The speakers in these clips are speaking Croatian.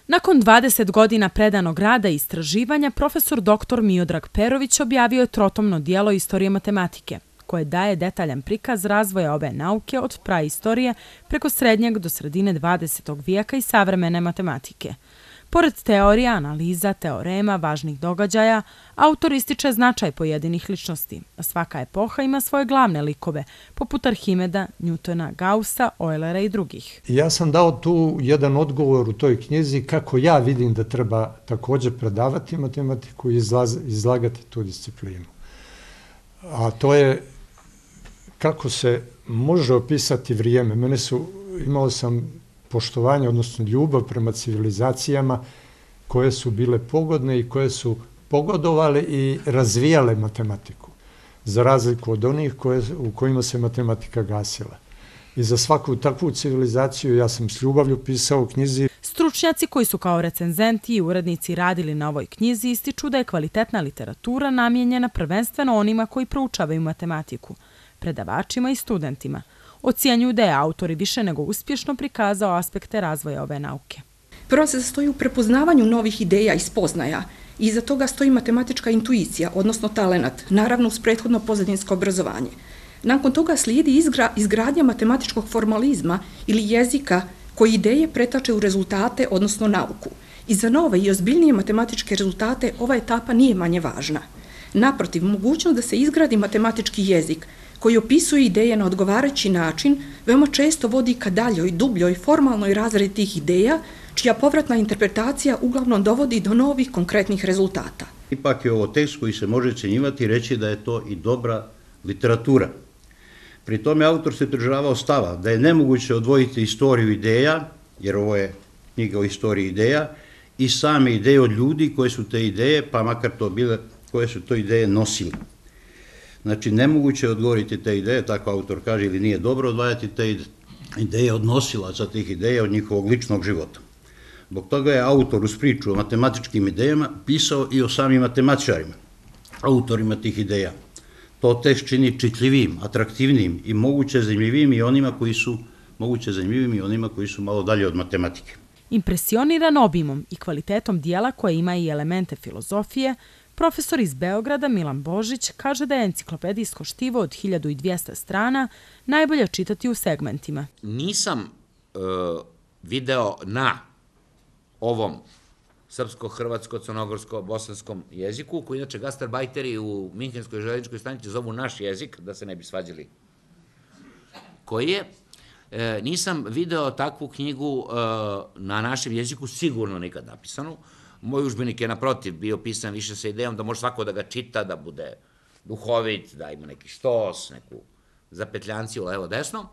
Nakon 20 godina predanog rada i istraživanja, profesor dr. Miodrag Perović objavio je trotomno dijelo Istorije matematike, koje daje detaljan prikaz razvoja ove nauke od praistorije preko srednjeg do sredine 20. vijeka i savremene matematike. Pored teorija, analiza, teorema, važnih događaja, autor ističe značaj pojedinih ličnosti, a svaka epoha ima svoje glavne likove, poput Arhimeda, Newtona, Gaussa, Eulera i drugih. Ja sam dao tu jedan odgovor u toj knjizi kako ja vidim da treba također predavati matematiku i izlagati tu disciplinu. A to je kako se može opisati vrijeme. Imao sam poštovanje, odnosno ljubav prema civilizacijama koje su bile pogodne i koje su pogodovale i razvijale matematiku, za razliku od onih u kojima se matematika gasila. I za svaku takvu civilizaciju ja sam s ljubavlju pisao u knjizi. Stručnjaci koji su kao recenzenti i urednici radili na ovoj knjizi ističu da je kvalitetna literatura namijenjena prvenstveno onima koji proučavaju matematiku, predavačima i studentima. Ocjenjuju da je autor više nego uspješno prikazao aspekte razvoja ove nauke. Prvo se sastoji u prepoznavanju novih ideja i spoznaja. Iza toga stoji matematička intuicija, odnosno talenat, naravno uz prethodno pozadinsko obrazovanje. Nakon toga slijedi izgradnja matematičkog formalizma ili jezika koji ideje pretače u rezultate, odnosno nauku. I za nove i ozbiljnije matematičke rezultate ova etapa nije manje važna. Naprotiv, mogućnost da se izgradi matematički jezik koji opisuje ideje na odgovarajući način, veoma često vodi ka daljoj, dubljoj, formalnoj razradi tih ideja, čija povratna interpretacija uglavnom dovodi do novih konkretnih rezultata. Ipak je ovo tekst koji se može ocjenjivati i reći da je to i dobra literatura. Pri tome autor se pridržavao stava da je nemoguće odvojiti istoriju ideja, jer ovo je knjiga o istoriji ideja, i same ideje od ljudi koje su te ideje, pa makar to bile, koje su to ideje nosili. Znači, nemoguće je odgovoriti te ideje, tako autor kaže, ili nije dobro odvajati te ideje od nosilaca tih ideja, od njihovog ličnog života. Zbog toga je autor uz priču o matematičkim idejama pisao i o samim matematičarima, autorima tih ideja. To tekst čini čitljivim, atraktivnim i moguće zanimljivim i onima koji su malo dalje od matematike. Impresioniran obimom i kvalitetom dijela koje ima i elemente filozofije, profesor iz Beograda Milan Božić kaže da je enciklopedijsko štivo od 1200 strana najbolje čitati u segmentima. Nisam video na ovom srpsko-hrvatsko-crnogorsko-bosanskom jeziku, koji inače gastarbajteri u Minhenskoj željezničkoj stanici zovu naš jezik, da se ne bi svađali, koji je. Nisam video takvu knjigu na našem jeziku, sigurno nikad napisanu. Moj udžbenik je naprotiv bio pisan više sa idejom da može svako da ga čita, da bude duhovit, da ima neki štos, neku zapetljanciju levo-desno.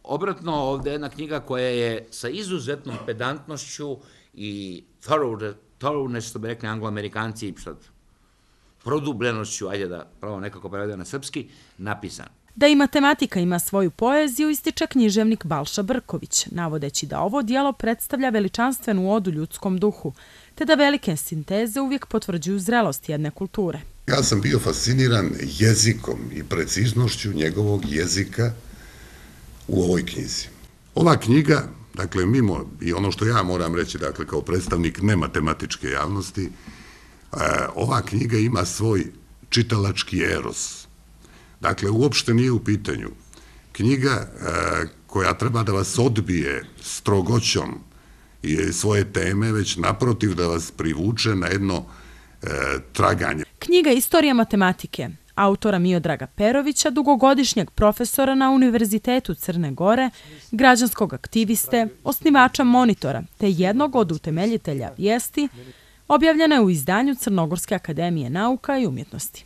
Obratno, ovdje je jedna knjiga koja je sa izuzetnom pedantnošću i thoroughness, što bi rekli anglo-amerikanci, produbljenošću, ajde da pravo nekako prevede na srpski, napisan. Da i matematika ima svoju poeziju ističe književnik Balša Brković, navodeći da ovo dijelo predstavlja veličanstvenu odu ljudskom duhu, te da velike sinteze uvijek potvrđuju zrelost jedne kulture. Ja sam bio fasciniran jezikom i preciznošću njegovog jezika u ovoj knjizi. Ova knjiga, dakle, mimo i ono što ja moram reći, dakle, kao predstavnik nematematičke javnosti, ova knjiga ima svoj čitalački eros. Dakle, uopšte nije u pitanju knjiga koja treba da vas odbije strogoćom i svoje teme, već naprotiv da vas privuče na jedno traganje. Knjiga Istorija matematike autora Miodraga Perovića, dugogodišnjeg profesora na Univerzitetu Crne Gore, građanskog aktiviste, osnivača Monitora, te jednog od utemeljitelja Vijesti, objavljena je u izdanju Crnogorske akademije nauka i umjetnosti.